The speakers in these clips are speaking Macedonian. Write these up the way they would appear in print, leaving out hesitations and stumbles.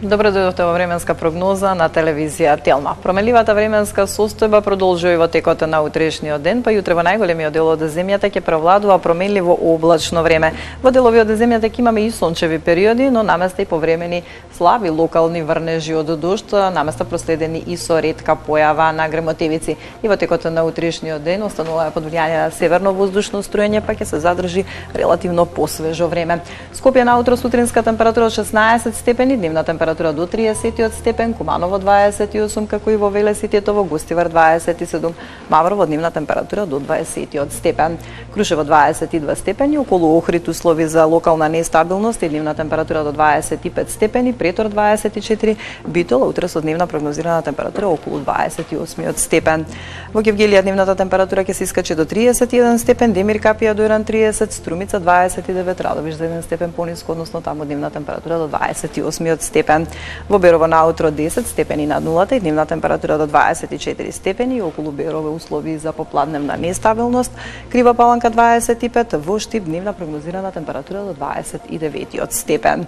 Добро дојдовте во временска прогноза на телевизија Телма. Променливата временска состојба продолжува и во текот на утрешниот ден, па јутре во најголемиот дел од земјата ќе превладува променливо облачно време. Во делови од земјата ќе имаме и сончеви периоди, но наместа и повремени слаби локални врнежи од дожд, наместа проследени и со ретка појава на грмотевици. И во текот на утрешниот ден останува под влијание на северно воздушно струење, па ќе се задржи релативно посвежо време. Скопје наутро сутринска температура од 16 степени, дневна температура до 30 степен, Куманово 28, како и во Велес и Тетово, Гостивар 27, Маврово дневна температура до 20 степен, Крушево 22 степени, околу Охрид услови за локална нестабилност и дневна температура до 25 степени, Претор 24, Битола утре со дневна прогнозирана температура околу 28 степен. Во Гевгелија дневната температура ќе се искачи до 31 степен, Демир Капија до 30, Струмица 29, Радовиш за 1 степен пониско, односно таму дневна температура до 28 степен. Во Берово наутро 10 степени над нулата и дневна температура до 24 степени, околу Берово услови за попладневна нестабилност, Крива Паланка 25, во Штип дневна прогнозирана температура до 29 степен.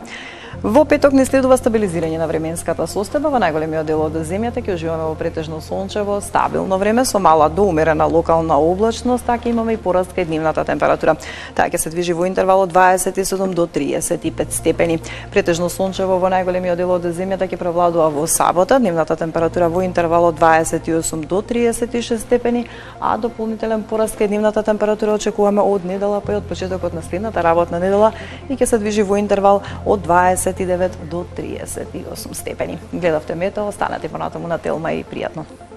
Во петок не следува стабилизирање на временската состојба, во најголемиот дел од земјата ќе уживаме во претежно сончево, стабилно време со мала до умерена локална облачност, така имаме и пораст кај дневната температура. Таа ќе се движи во интервал од 27 до 35 степени. Претежно сончево во најголемиот дел од земјата ќе превладува во сабота, дневната температура во интервал од 28 до 36 степени, а дополнителен пораст кај дневната температура очекуваме од недела па и од почетокот на следната работна недела и ќе се движи во интервал од 29 до 38 степени. Гледавте метео, останете понатаму на Телма и пријатно.